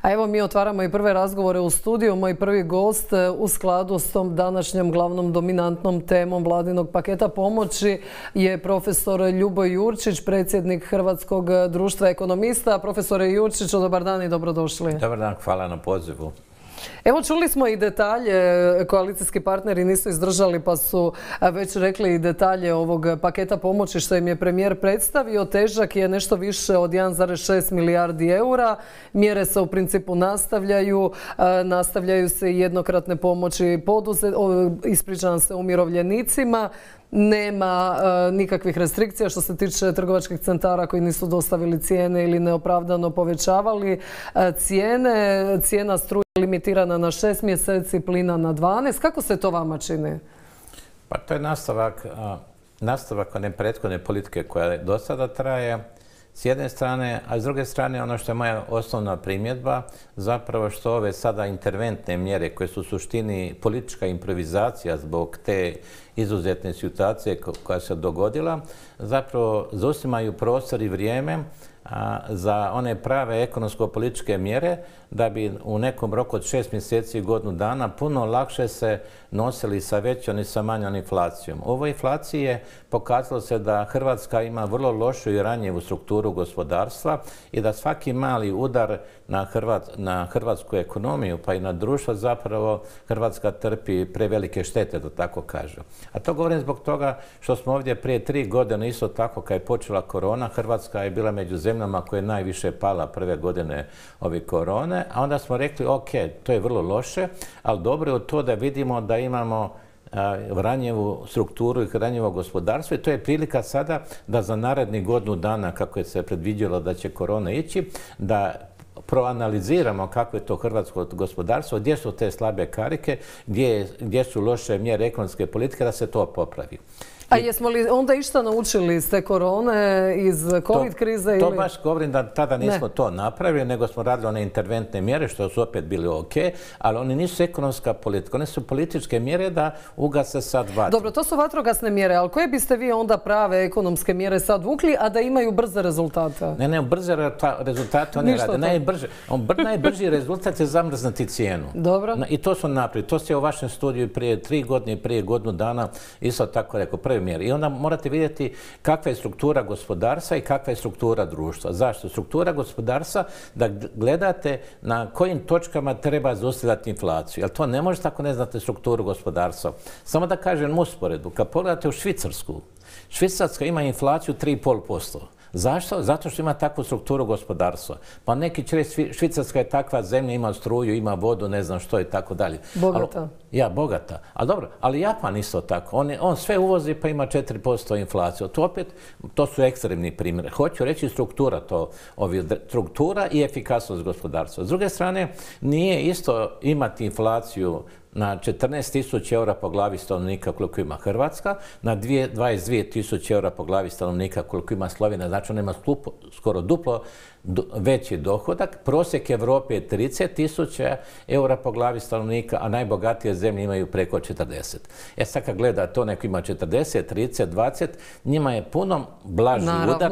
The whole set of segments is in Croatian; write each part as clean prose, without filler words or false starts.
A evo mi otvaramo i prve razgovore u studiju. Moj prvi gost u skladu s tom današnjom glavnom dominantnom temom vladinog paketa pomoći je profesor Ljuboj Jurčić, predsjednik Hrvatskog društva ekonomista. Profesore Jurčić, dobar dan i dobrodošli. Dobar dan, hvala na pozivu. Evo, čuli smo i detalje, koalicijski partneri nisu izdržali pa su već rekli i detalje ovog paketa pomoći što im je premijer predstavio. Težak je nešto više od 1,6 milijardi eura. Mjere se u principu nastavljaju se i jednokratne pomoći ispričavam se umirovljenicima. Nema nikakvih restrikcija što se tiče trgovačkih centara koji nisu dostavili cijene ili neopravdano povećavali cijene. Cijena struje limitirana na 6 mjeseci, plina na 12. Kako se to vama čini? Pa to je nastavak one prethodne politike koja do sada traje s jedne strane, a s druge strane ono što je moja osnovna primjedba, zapravo što ove sada interventne mjere koje su u suštini politička improvizacija zbog te izuzetne situacije koja se dogodila, zapravo zauzimaju prostor i vrijeme za one prave ekonomsko-političke mjere da bi u nekom roku od 6 mjeseci i godinu dana puno lakše se nosili sa većom i sa manjom inflacijom. U ovoj inflaciji je pokazalo se da Hrvatska ima vrlo lošu i ranjivu strukturu gospodarstva i da svaki mali udar na hrvatsku ekonomiju pa i na društvo zapravo Hrvatska trpi prevelike štete, da tako kažem. A to govorim zbog toga što smo ovdje prije 3 godine isto tako kad je počela korona, Hrvatska je bila među zemljama koja je najviše pala prve godine ove korone, a onda smo rekli ok, to je vrlo loše, ali dobro je to da vidimo da imamo ranjivu strukturu i ranjivo gospodarstvo i to je prilika sada da za narednih godinu dana, kako je se predviđalo da će korona ići, da proanaliziramo kako je to hrvatsko gospodarstvo, gdje su te slabe karike, gdje su loše mjere ekonomske politike, da se to popravi. A jesmo li onda išta naučili iz te korone, iz COVID krize? To baš govorim da tada nismo to napravili, nego smo radili one interventne mjere, što su opet bili ok, ali oni nisu ekonomska politika, one su političke mjere da ugase sad vatru. Dobro, to su vatrogasne mjere, ali koje biste vi onda prave ekonomske mjere sad vukli, a da imaju brze rezultate? Ne, brze rezultate oni rade. Najbrži rezultat je zamrznuti cijenu. Dobro. I to su napravili. To ste u vašem studiju prije 3 godine i prije godinu dana isto tako rekao. I onda morate vidjeti kakva je struktura gospodarstva i kakva je struktura društva. Zašto? Struktura gospodarstva da gledate na kojim točkama treba zaustavljati inflaciju. Jer to ne možete ako ne znate strukturu gospodarstva. Samo da kažem usporedbu. Kad pogledate u Švicarsku, Švicarska ima inflaciju 3,5%. Zašto? Zato što ima takvu strukturu gospodarstva. Pa neki će reći Švicarska je takva zemlja, ima struju, ima vodu, ne znam što i tako dalje. Bogata. Ja, bogata. Ali dobro, ali Japan isto tako. On sve uvozi pa ima 4% inflaciju. To su ekstremni primjeri. Hoću reći struktura i efikasnost gospodarstva. S druge strane, nije isto imati inflaciju na 14.000 eura po glavi stanovnika koliko ima Hrvatska, na 22.000 eura po glavi stanovnika koliko ima Slovenija, znači ona ima skoro duplo veći dohodak. Prosjek Evrope je 30.000 eura po glavi stanovnika, a najbogatije zemlje imaju preko 40. Sad kad gleda to, neko ima 40, 30, 20, njima je puno blaži udar.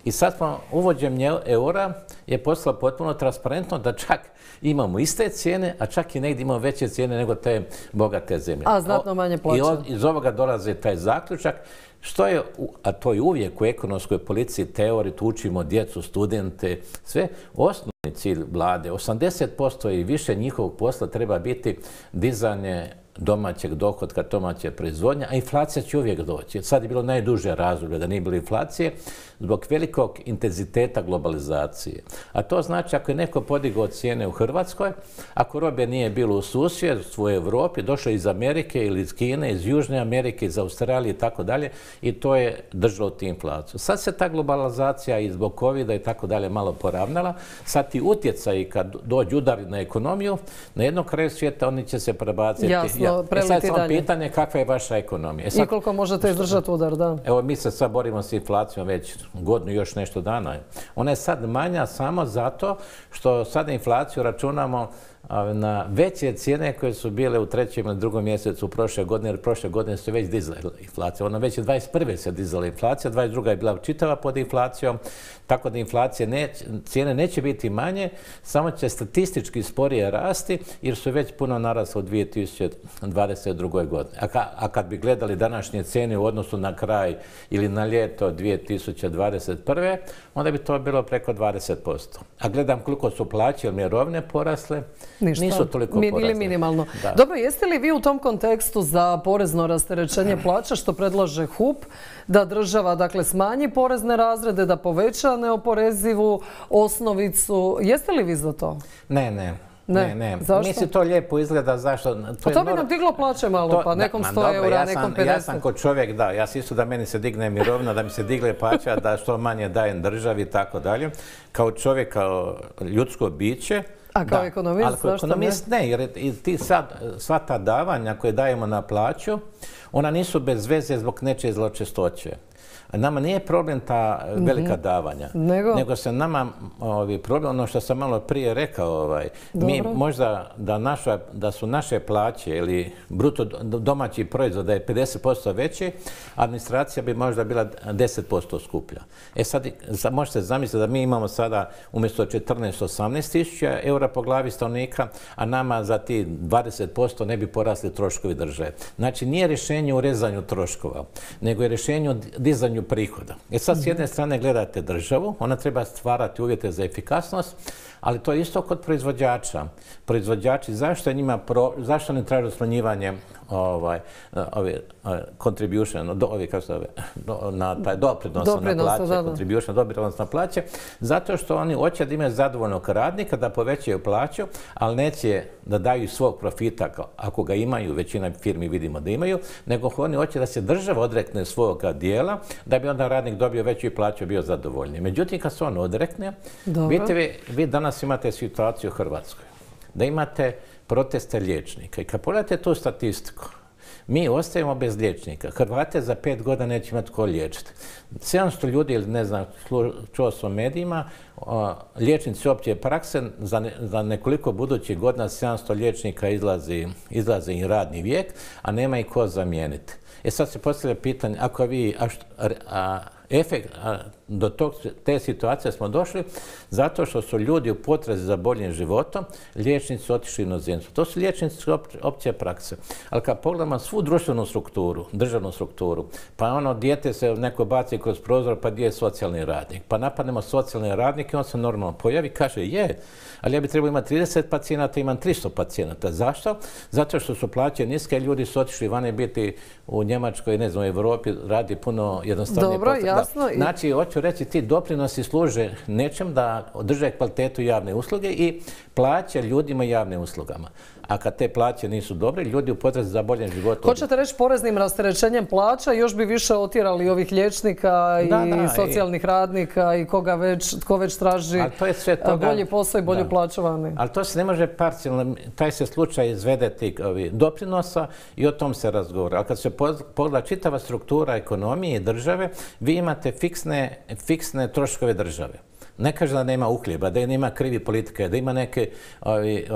I sad smo uvođenjem eura je postalo potpuno transparentno da čak imamo iste cijene, a čak i negdje imamo veće cijene nego te bogate zemlje. A znatno manje plaća. I iz ovoga dolazi taj zaključak, a to je uvijek u ekonomskoj politici teoriji, tu učimo djecu, studente, sve. Osnovni cilj vlade, 80% i više njihovog posla treba biti dizanje domaćeg dohotka, domaće proizvodnje, a inflacija će uvijek doći. Sad je bilo najduže razdoblje da nije bilo inflacije zbog velikog intenziteta globalizacije. A to znači ako je neko podigao cijene u Hrvatskoj, ako robe nije bilo u susjedstvu u Europi, došlo iz Amerike ili iz Kine, iz Južne Amerike, iz Australije i tako dalje, i to je držalo ti inflaciju. Sad se ta globalizacija i zbog covida i tako dalje malo poravnala. Sad ti utjecaji kad dođu udari na ekonomiju, na jednom kraju svijeta oni će se prebaciti. Jasno, preliti dalje. Sad samo pitanje kakva je vaša ekonomija. I koliko možete izdržati udar, da. Evo, mi se sad borimo s inflacijom već godinu još nešto dana. Ona je sad manja samo zato što sad inflaciju računamo na veće cijene koje su bile u 3. ili 2. mjesecu prošle godine, jer prošle godine su već dizale inflacija. Ono već je 21. se dizala inflacija, 22. je bila čitava pod inflacijom, tako da cijene neće biti manje, samo će statistički sporije rasti, jer su već puno narasle u 2022. godine. A kad bi gledali današnje cijene u odnosu na kraj ili na ljeto 2021. onda bi to bilo preko 20%. A gledam koliko su plaće ili mirovine porasle, nisu toliko porasle. Ili minimalno. Dobro, jeste li vi u tom kontekstu za porezno rasterećenje plaća što predlaže HUP, da država dakle smanji porezne razrede, da poveća neoporezivu osnovicu? Jeste li vi za to? Ne. Zašto? Mislim, to lijepo izgleda, zašto? To bi nam diglo plaće malo, pa nekom 100 eura, nekom 50. Ja sam kod čovjek, da, ja sam isto da meni se digne mirovina, da mi se digle plaća, da što manje dajem državi i tako dalje. Kao čovjek, kao ljudsko biće. A kao ekonomist, ali kao ekonomist ne, jer sva ta davanja koje dajemo na plaću, ona nisu bez veze zbog nečije zločestoće. Nama nije problem ta velika davanja, nego se nama problem, ono što sam malo prije rekao, mi možda da su naše plaće ili bruto domaći proizvod da je 50% veći, administracija bi možda bila 10% skuplja. Sad možete zamisliti da mi imamo sada umjesto 14-18 tisuća eura po glavi stanovnika, a nama za ti 20% ne bi porasli troškovi države. Znači nije rješenje u rezanju troškova, nego je rješenje u dizanju prihoda. Sad s jedne strane gledate državu, ona treba stvarati uvjete za efikasnost, ali to je isto kod proizvođača. Proizvođači, zašto ne traže smanjivanje contribution, na taj doprinos na plaće, contribution, doprinos na plaće, zato što oni hoće da imaju zadovoljnog radnika, da povećaju plaću, ali neće da daju svog profita, ako ga imaju, većina firmi vidimo da imaju, nego oni hoće da se država odrekne svoga dijela, da bi onda radnik dobio veću plaću i bio zadovoljniji. Međutim, kad se on odrekne, vidite, vi danas imate situaciju u Hrvatskoj, da imate proteste liječnika i kad pogledate tu statistiku, mi ostajemo bez liječnika. Hrvate za 5 godina neće imati ko liječiti. 700 ljudi, ili ne znam, čuo sam u medijima, liječnici opće prakse, za nekoliko budućih godina 700 liječnika izlazi i radni vijek, a nema ih ko zamijeniti. Sad se postavlja pitanje, ako vi, do te situacije smo došli zato što su ljudi u potrazi za boljim životom, liječnici otišli u inozemstvo. To su liječnici opće prakse. Ali kad pogledamo svu društvenu strukturu, državnu strukturu, pa dijete se neko baci kroz prozor, pa gdje je socijalni radnik? Pa napadnemo socijalni radnik i on se normalno pojavi, kaže ali ja bi trebao imati 30 pacijenata, imam 300 pacijenata. Zašto? Zato što su plaće niske, ljudi su otišli vani biti u Njemačkoj, ne znam, u Europi, radi puno jednostavnije. Dobro, jasno. Znači, hoću reći, ti doprinosi služe nečem da održe kvalitetu javne usluge i plaće ljudima javne uslugama. A kad te plaće nisu dobre, ljudi u potrazi za boljim životom. Hoćete reći poreznim rasterećenjem plaća još bi više otjerali ovih liječnika i socijalnih radnika i tko već traži bolji posao i bolju plaću vani. Ali to se ne može parcijalno, taj se slučaj izvede tih doprinosa i o tom se razgovara. Ali kad se pogleda čitava struktura ekonomije i države, vi imate fiksne troškove države. Ne kaže da nema uhljeba, da nema krivi politike, da ima neke...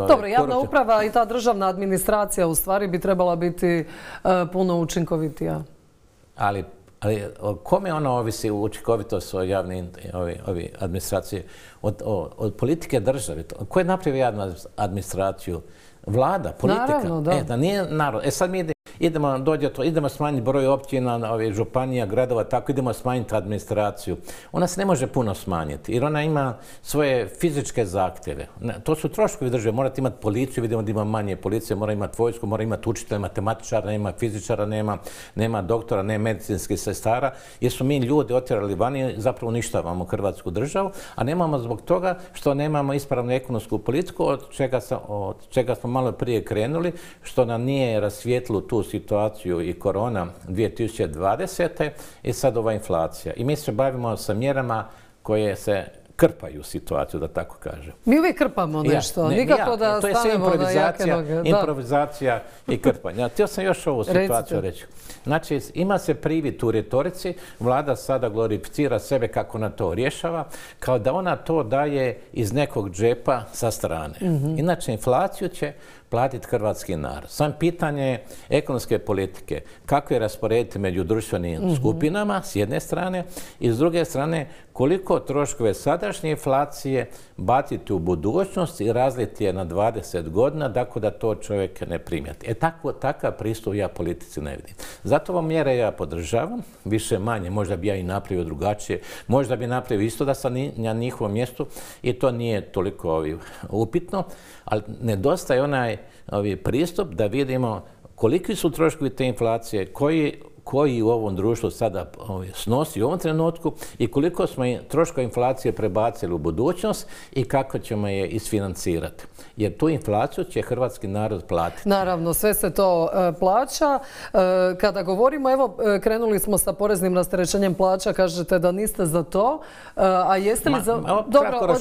Dobro, javna uprava i ta državna administracija u stvari bi trebala biti puno učinkovitija. Ali kome ona ovisi učinkovitost javne administracije? Od politike države. Ko je napravio javnu administraciju? Vlada, politika. Naravno, da. Da nije narod. Sad mi idemo smanjiti broj općina, županija, gradova, tako idemo smanjiti administraciju. Ona se ne može puno smanjiti jer ona ima svoje fizičke zahtjeve. To su troškovi države. Morate imati policiju, vidimo da ima manje policije, mora imati vojsku, mora imati učitelja, matematičara, nema fizičara, nema doktora, nema medicinskih sestara, jer su mi ljudi otjerali vani, zapravo uništavamo Hrvatsku državu, a nemamo zbog toga što nemamo ispravnu ekonomsku politiku, od čega smo malo prije krenuli, što nam nije rasvijetlilo tu situaciju i korona 2020. i sad ova inflacija. I mi se bavimo sa mjerama krpaju situaciju, da tako kažem. Mi uvijek krpamo nešto, nikako da stanemo na jake noge. Improvizacija i krpanje. Htio sam još ovu situaciju reći. Znači, ima se privid u retorici, vlada sada glorificira sebe kako ona to rješava, kao da ona to daje iz nekog džepa sa strane. Inače, inflaciju će platiti hrvatski narod. Sam pitanje ekonomske politike, kako je rasporediti među društvenim skupinama s jedne strane i s druge strane koliko troškove sadašnje inflacije baciti u budućnost i razliti je na 20 godina, tako da to čovjek ne primijeti. Takav pristup ja politici ne vidim. Zato ovo mjere ja podržavam, više manje, možda bi ja i napravio drugačije, možda bi napravio isto da sam na njihovom mjestu i to nije toliko upitno, ali nedostaje onaj pristup da vidimo koliki su troškovi te inflacije, koji u ovom društvu sada snosi u ovom trenutku i koliko smo troškova inflacije prebacili u budućnost i kako ćemo je isfinancirati. Jer tu inflaciju će hrvatski narod platiti. Naravno, sve se to plaća. Kada govorimo, evo, krenuli smo sa poreznim rasterećenjem plaća, kažete da niste za to, a jeste li za... Dobro,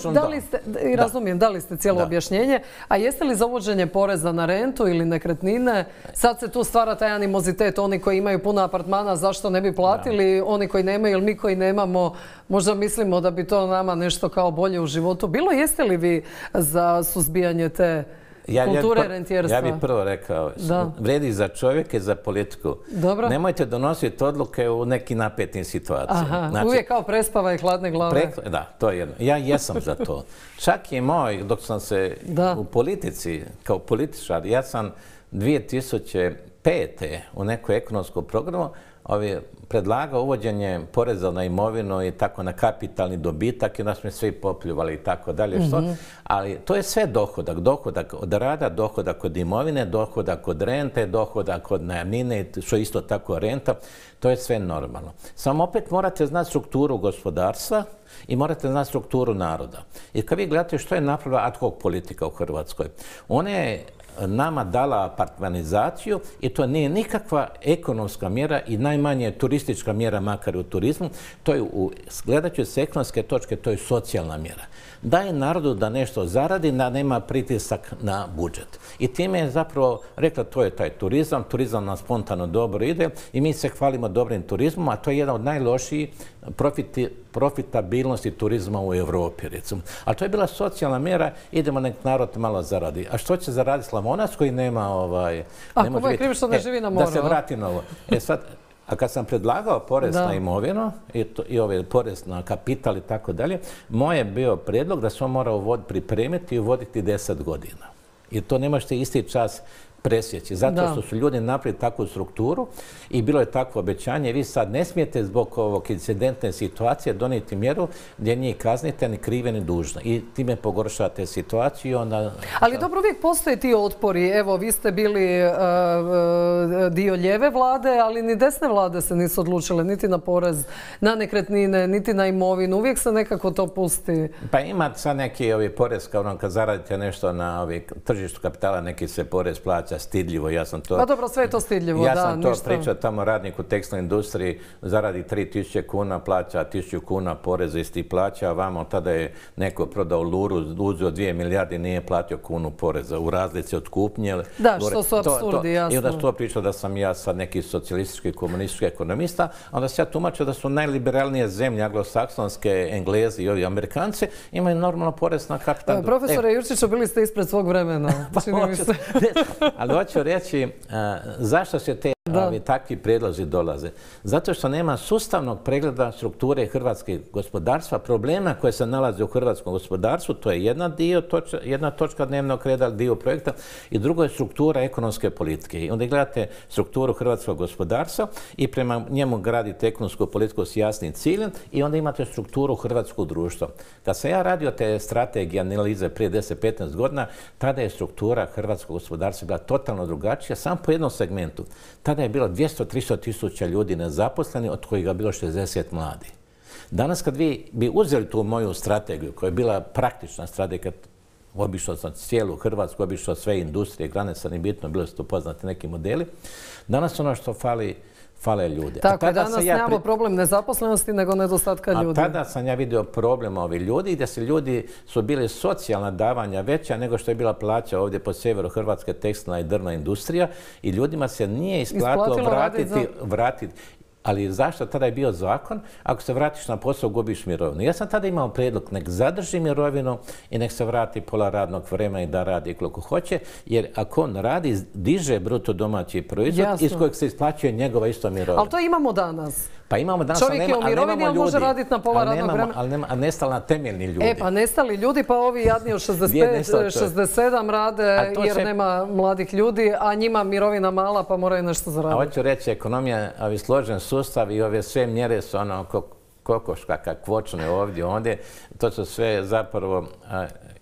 razumijem, dali ste cijelo objašnjenje, a jeste li za uvođenje poreza na rentu ili nekretnine? Sad se tu stvara taj animozitet, oni koji imaju puno apartmana, zašto ne bi platili, oni koji nemaju ili mi koji nemamo, možda mislimo da bi to nama nešto kao bolje u životu bilo. Jeste li vi za suzbijanje te kulture rentijerstva? Ja bih prvo rekao, vredi za čovjeka i za politiku. Dobro. Nemojte donositi odluke u nekim napetim situacijama. Znači, uvijek kao prespava i hladne glave. Da, to je jedno. Ja jesam za to. Čak i moj, dok sam se u politici, kao političar, ja sam 2005. u nekoj ekonomskom programu predlagao uvođenje poreza na imovinu i tako na kapitalni dobitak i onda smo svi popljuvali i tako dalje. Ali to je sve dohodak. Dohodak od rada, dohodak od imovine, dohodak od rente, dohodak od najamnine, što je isto tako renta. To je sve normalno. Samo opet morate znati strukturu gospodarstva i morate znati strukturu naroda. I kad vi gledate što je napravila ad hoc politika u Hrvatskoj, ona je nama dala apartmanizaciju i to nije nikakva ekonomska mjera i najmanje turistička mjera, makar u turizmu. To je, gledajući s ekonomske točke, to je socijalna mjera. Daje narodu da nešto zaradi, da nema pritisak na budžet. I time je zapravo rekla to je taj turizam, turizam nam spontano dobro ide i mi se hvalimo dobrim turizmom, a to je jedan od najlošijih profitabilnosti turizma u Europi, recimo. Ali to je bila socijalna mjera, idemo nek narod malo zaradi. A što će zaraditi Slavonac koji nema... Ako je kriv što ne živi na moru. Da se vrati na ovo. A kad sam predlagao porez na imovinu i porez na kapital i tako dalje, moj je bio prijedlog da se on mora pripremiti i uvoditi 10 godina. I to ne možete isti čas presjeći. Zato što su ljudi napravili takvu strukturu i bilo je takvo obećanje. Vi sad ne smijete zbog ovog incidentne situacije donijeti mjeru gdje njih kaznite ni krive ni dužne. I time pogoršate situaciju. Ali dobro, uvijek postoje ti otpori. Evo, vi ste bili dio lijeve vlade, ali ni desne vlade se nisu odlučile niti na porez na nekretnine, niti na imovinu. Uvijek se nekako to pusti. Pa ima sad neki porez, kao kad zaradite nešto na tržištu kapitala, neki se porez plaća stidljivo, ja sam to... Pa dobro, sve je to stidljivo, ja sam to pričao tamo radnik u tekstilnoj industriji, zaradi 3000 kuna, plaća 1000 kuna poreza isti plaća, a vamo tada je neko prodao luru, uzeo 2 milijarde i nije platio kunu poreza u razlici od kupnje. Da, što su apsurdi, jasno. I onda to pričao da sam ja sad neki socijalistički, komunistički ekonomista, onda se ja tumačio da su najliberalnije zemlje, anglosaksonske, Englezi i ovi Amerikanci, imaju normalno porez na kapital. Profesore Jurčiću, bili ste ispred svog vremena, čini mi se. Ali hoću reći, zašto se te takvi prijedlozi dolaze? Zato što nema sustavnog pregleda strukture hrvatskog gospodarstva, problema koje se nalaze u hrvatskom gospodarstvu, to je jedna točka dnevnog reda, dio projekta, i drugo je struktura ekonomske politike. I onda gledate strukturu hrvatskog gospodarstva i prema njemu gradite ekonomsku politiku s jasnim ciljem i onda imate strukturu hrvatskog društva. Kad sam ja radio te strategije analize prije 10-15 godina, tada je struktura hrvatskog gospodarstva bila totalno drugačija, samo po jednom segmentu. Tada je bilo 200-300 tisuća ljudi nezaposleni, od kojih je bilo 60 mladih. Danas kad vi bi uzeli tu moju strategiju, koja je bila praktična strategija, obišao sam cijelu Hrvatsku, obišao sve industrije, grane, sad nije bitno, bilo su to poznati neki modeli. Danas ono što fali fale ljudi. Tako, danas nemamo problem nezaposlenosti, nego nedostatka ljudi. A tada sam ja vidio problem ovih ljudi, gdje su ljudi bili socijalna davanja veća nego što je bila plaća ovdje po sjeveru Hrvatske, tekstilna i drvna industrija, i ljudima se nije isplatilo vratiti. Ali zašto tada je bio zakon? Ako se vratiš na posao, gubiš mirovinu. Ja sam tada imao prijedlog, nek zadrži mirovinu i nek se vrati pola radnog vremena i da radi koliko hoće, jer ako on radi, diže bruto domaći proizvod iz kojeg se isplaćuje njegova isto mirovina. Ali to imamo danas. Pa imamo danas, čovjek je u mirovini, ali može raditi na pola radnog vremena. Ali nestali na temeljni ljudi. Pa nestali ljudi, pa ovi jadni od 65, 67 rade jer nema mladih ljudi, a njima mirovina mala pa moraju nešto zaraditi. A hoću reći, ekonomija, ovi složen sustav i ove sve mjere su ono kokoška kakvočne ovdje, ondje. To su sve zapravo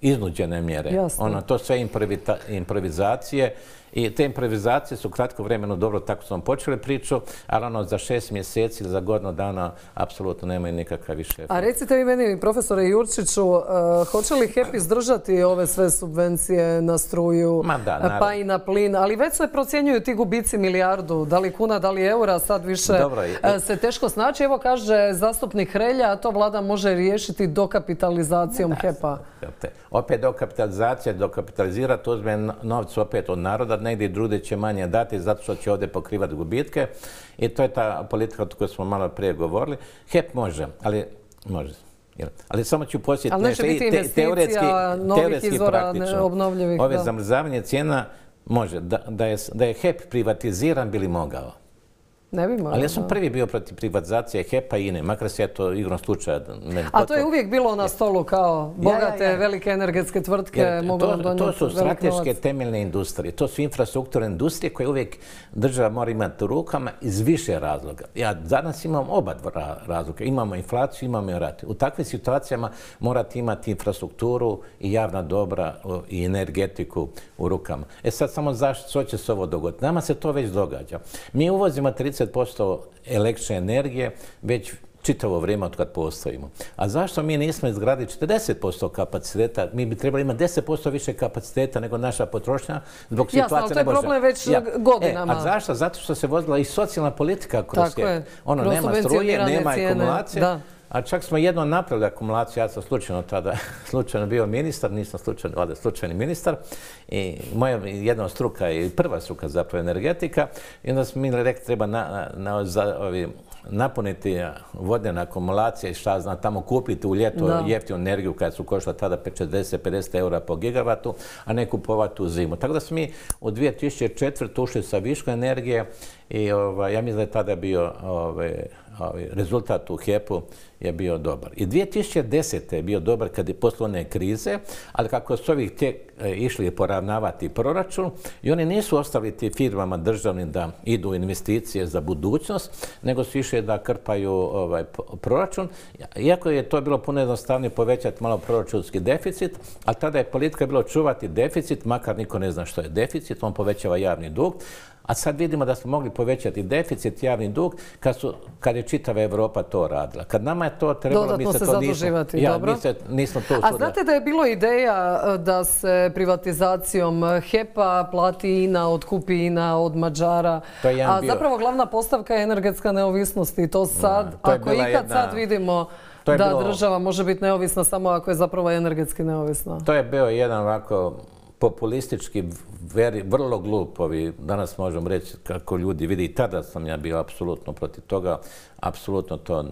iznuđene mjere. To sve improvizacije. I te improvizacije su kratko vremeno dobro, tako smo počeli priču, ali za 6 mjeseci ili za godinu dana apsolutno nemaju nikakav više efekt. A recite vi meni, profesore Jurčiću, hoće li HEP izdržati ove sve subvencije na struju, pa i na plin, ali već se procjenjuju ti gubici milijardu, da li kuna, da li eura, sad više se teško snaći. Evo kaže zastupnik Hrelja, a to vlada može riješiti dokapitalizacijom HEP-a. Opet dokapitalizirati, uzme novcu opet od naroda, negdje drugdje će manje dati zato što će ovdje pokrivati gubitke, i to je ta politika o kojoj smo malo prije govorili. HEP može, ali samo ću posjetiti nešto i investicija novih izvora obnovljivih. Ove zamrzavanje cijena može. Da je HEP privatiziran, bili mogao. Ne bi morao. Ali ja sam prvi bio protiv privatizacije HEP-a i INE, makar se ja to igrom slučaja... A to je uvijek bilo na stolu kao bogate, velike energetske tvrtke mogu vam donijeti velik novac. To su strateške temeljne industrije, to su infrastrukturne industrije koje uvijek država mora imati u rukama iz više razloga. Ja danas imam oba razloga, imamo inflaciju, imamo i rat. U takvim situacijama morate imati infrastrukturu i javna dobra i energetiku u rukama. Sad samo zašto će se ovo dogoditi? Nama se to već događa. Mi uvozimo 30% električne energije već čitavo vrijeme od kad postojimo. A zašto mi nismo izgradili 40% kapaciteta? Mi bi trebali imati 10% više kapaciteta nego naša potrošnja zbog situacije ne može. Jasno, ali to je problem već godinama. A zašto? Zato što se vodila i socijalna politika kroz HEP. Nema struje, nema akumulacije. A čak smo jedno napravili akumulaciju, ja sam slučajno bio ministar, nisam slučajni ministar, i moja jedna struka je prva struka zapravo energetika, i onda smo mi rekli treba napuniti vodene akumulacije i šta znam, tamo kupiti u ljeto jeftinu energiju kada su koštala tada 40-50 eura po gigavatu, a ne kupovati u zimu. Tako da smo mi u 2004. ušli sa viškom energije i ja mislim da je tada bio rezultat u HEP-u je bio dobar. I 2010. je bio dobar kad je posle one krize, ali kako su ovih išli poravnavati proračun i oni nisu ostavili ti firmama državnim da idu u investicije za budućnost, nego su išli da krpaju proračun. Iako je to bilo puno jednostavnije povećati malo proračunski deficit, ali tada je politika bilo čuvati deficit, makar niko ne zna što je deficit, on povećava javni dug. A sad vidimo da smo mogli povećati deficit, javni dug, kad je čitava Europa to radila. Kad nama je to trebalo, dodatno se zaduživati, dobro. Nismo to usudili. A znate da je bilo ideja da se privatizacijom HEP-a plati INA, otkupi INA od Mađara, a zapravo glavna postavka je energetska neovisnost i to sad, ako ikad sad vidimo da država može biti neovisna samo ako je zapravo energetski neovisna. To je bio jedan ovako populistički, vrlo glupovi, danas možemo reći kako ljudi vidi, i tada sam ja bio apsolutno protiv toga, apsolutno to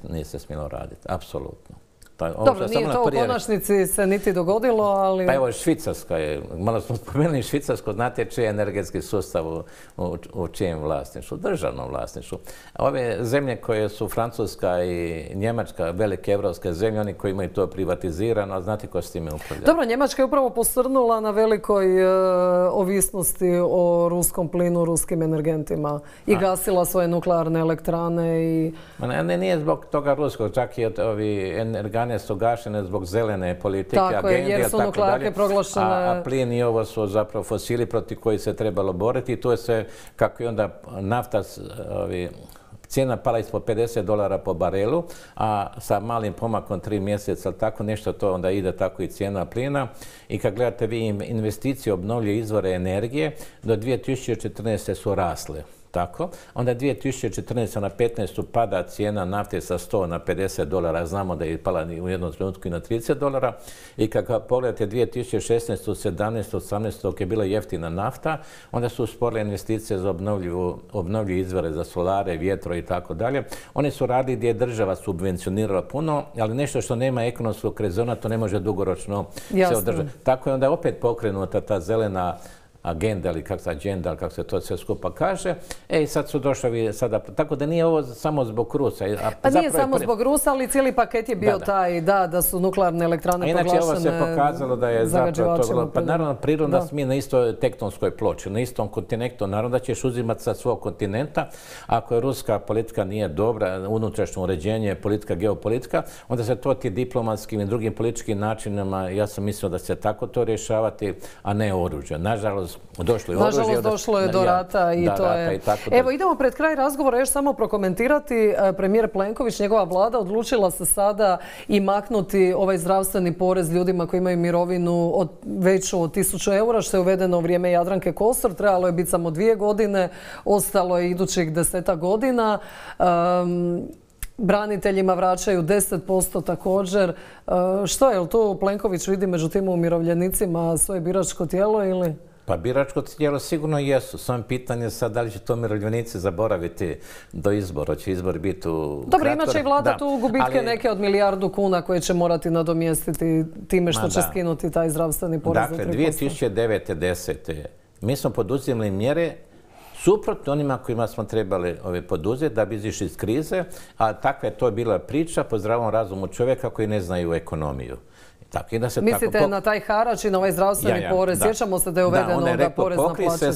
nije se smjelo raditi, apsolutno. Dobro, nije to u konačnici se niti dogodilo, ali... Pa evo, Švicarska je, malo smo spomenuli Švicarsko, znate čiji je energetski sustav u čijem vlasništvu, državnom vlasništvu. Ove zemlje koje su Francuska i Njemačka, velike evropske zemlje, oni koji imaju to privatizirano, znate ko s time upravlja? Dobro, Njemačka je upravo posrnula na velikoj ovisnosti o ruskom plinu, ruskim energentima i gasila svoje nuklearne elektrane i... Nije zbog toga ruskog, čak i ovi energane su gašene zbog zelene politike, agende, jer su nuklearke proglašene... A plin i ovo su zapravo fosili protiv koji se trebalo boriti i to je sve, kako je onda nafta, cijena pala ispod $50 po barelu, a sa malim pomakom 3 mjeseca, tako nešto to onda ide tako i cijena plina. I kad gledate vi investicije obnovljive izvore energije, do 2014. su rasle. tako. Onda 2014. na 15. pada cijena nafte sa $100 na $50. Znamo da je pala u jednom trenutku i na $30. I kad pogledate 2016. 17. 18. dok je bila jeftina nafta, onda su usporile investicije za obnovljive izvore, za solare, vjetro i tako dalje. One su radili gdje je država subvencionirala puno, ali nešto što nema ekonomskog rezona, to ne može dugoročno se održati. Tako je onda opet pokrenuta ta zelena agenda ili kako se to sve skupa kaže. I sad su došli sada, tako da nije ovo samo zbog Rusa. Pa nije samo zbog Rusa, ali cijeli paket je bio taj, da su nuklearne elektrane proglašene zagađivačima. Inače, ovo se pokazalo da je zapravo to bilo, pa naravno prirodno da smo mi na istoj tektonskoj ploči, na istom kontinentu, naravno da ćeš uzimati sa svog kontinenta. Ako je ruska politika nije dobra, unutrašnje uređenje, politika, geopolitika, onda se to ti diplomatskim i drugim političkim načinima, ja sam mislio da se tako to rješavati, a ne oružje. Nažalost, došlo je do rata i to je... Evo, idemo pred kraj razgovora još samo prokomentirati. Premijer Plenković, njegova vlada, odlučila se sada i maknuti ovaj zdravstveni porez ljudima koji imaju mirovinu veću od 1000 eura, što je uvedeno u vrijeme Jadranke Kosor. Trebalo je biti samo 2 godine, ostalo je idućih 10 godina. Braniteljima vraćaju 10% također. Što je li tu Plenković vidi među tim umirovljenicima svoje biračko tijelo ili... Pa biračko tijelo sigurno jesu. Samo pitanje sad da li će to umirovljenici zaboraviti do izbora. Će izbor biti u... Dobro, imat će i vlada tu gubitke neke od milijardu kuna koje će morati nadomjestiti time što će skinuti taj zdravstveni porez. Dakle, 2009-10. mi smo poduzimali mjere suprotno onima kojima smo trebali poduzeti da bi izišli iz krize, a takva je to bila priča po zdravom razumu čovjeka koji ne znaju ekonomiju. Mislite na taj harač i na ovaj zdravstveni porez? Sjećamo se da je uvedeno da porez na plaće.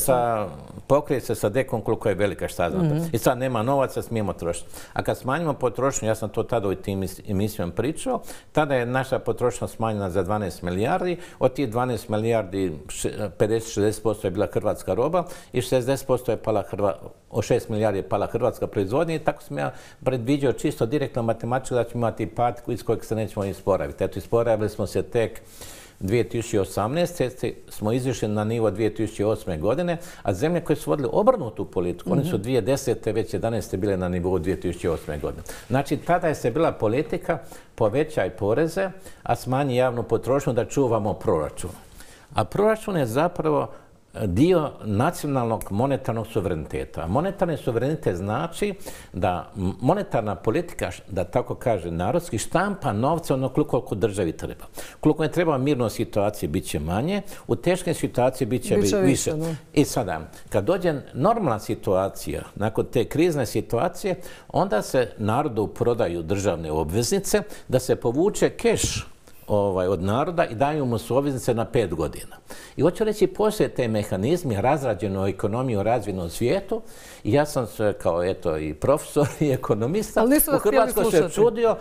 Pokrije se sa dekom koliko je velika, šta znate. I sad nema novaca, smijemo trošiti. A kad smanjimo potrošnju, ja sam to tada u tim emisijom pričao, tada je naša potrošnja smanjena za 12 milijardi. Od tih 12 milijardi 50-60% je bila hrvatska roba i 60% je pala od 6 milijardi je pala hrvatska proizvodnja i tako sam ja predviđao čisto direktno matematički da ćemo imati pad iz kojeg se nećemo isporaviti. Eto, isporavili smo se tek 2018. smo izišli na nivo 2008. godine, a zemlje koje su vodili obrnutu politiku, oni su 2010. već 11. bile na nivou 2008. godine. Znači, tada je se bila politika povećaj poreze, a smanji javnu potrošnju da čuvamo proračun. A proračun je zapravo dio nacionalnog monetarnog suvereniteta. Monetarni suverenitet znači da monetarna politika, da tako kaže narodski, štampa novce koliko državi treba. Koliko je treba mirnoj situaciji bit će manje, u teškoj situaciji bit će više. I sada, kad dođe normalna situacija, nakon te krizne situacije, onda se narodu prodaju državne obveznice, da se povuče keš od naroda i daju mu su obveznice na 5 godina. I hoću reći, postoje te mehanizmi razrađeno ekonomiju u razvijenom svijetu i ja sam se kao i profesor i ekonomista u Hrvatskoj se čudio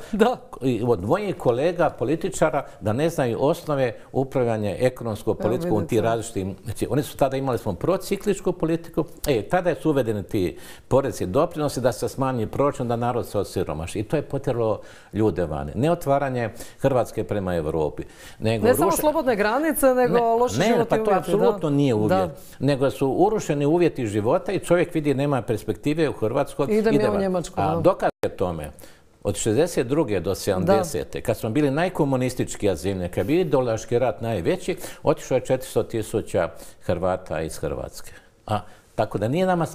od mojih kolega političara da ne znaju osnove upravljanja ekonomskom politikom u tim različitim... Oni su tada imali smo procikličku politiku, tada su uvedeni ti porezi i doprinosi da se smanji proračun, da narod se osiromaši. I to je potjeralo ljude vani. Ne otvaranje Hrvatske prema Europi. Ne samo slobodne granice, nego loši životni uvjeti. Pa to apsolutno nije uvjet. Nego su urušeni uvjeti života i čovjek vidi nema perspektive u Hrvatskoj. Idem ja u Njemačku. A dokaz je tome, od 62. do 70. kad smo bili najkomunističkija zemlja, kad je bio ideološki rat najveći, otišlo je 400.000 Hrvata iz Hrvatske. Tako da nije nama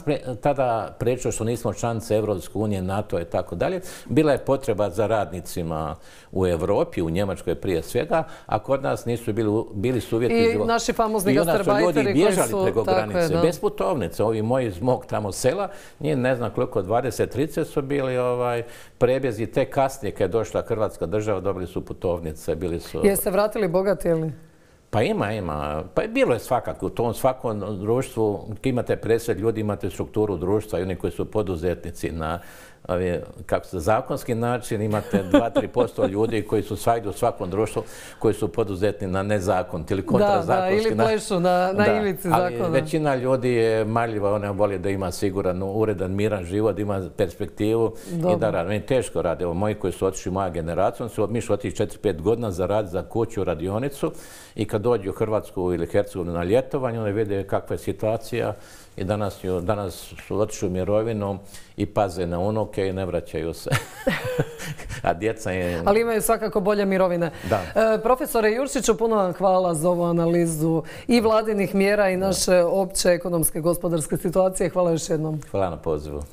tada prečilo što nismo članice Evropske unije, NATO i tako dalje. Bila je potreba za radnicima u Europi, u Njemačkoj prije svega, a kod nas nisu bili su uvjeti života. I naši famozni gastarbajteri koji su... I onda su ljudi bježali preko granice, bez putovnice. Ovi moji iz mog tamo sela, nije ne znam koliko, 20-30 su bili prebjezi. Te kasnije kad je došla Hrvatska država, dobili su putovnice, bili su... Jeste vratili bogati ili? Pa ima. Pa bilo je svakako. U tom svakom društvu, imate presjed ljudi, imate strukturu društva i oni koji su poduzetnici na zakonski način, imate 2-3% ljudi koji su svagdje u svakom društvu koji su poduzetni na nezakoniti ili kontrazakonski način. Ili plešu na ivici zakona. Ali većina ljudi je marljiva, ona voli da ima siguran, uredan, miran život, ima perspektivu i da radi. Meni teško radi. Evo, moji koji su otišli moja generacija, mi su otišli 4-5 godina za rad, za kuću, radionicu i kad dođu u Hrvatsku ili Hercegovinu na ljetovanje, oni vide kakva je situacija i danas su otišli u mirovinu i paze na unuke i ne vraćaju se. A djeca je... Ali imaju svakako bolje mirovine. Da. Profesore Jurčiću, puno vam hvala za ovu analizu i vladinih mjera i naše opće ekonomske gospodarske situacije. Hvala još jednom. Hvala na pozivu.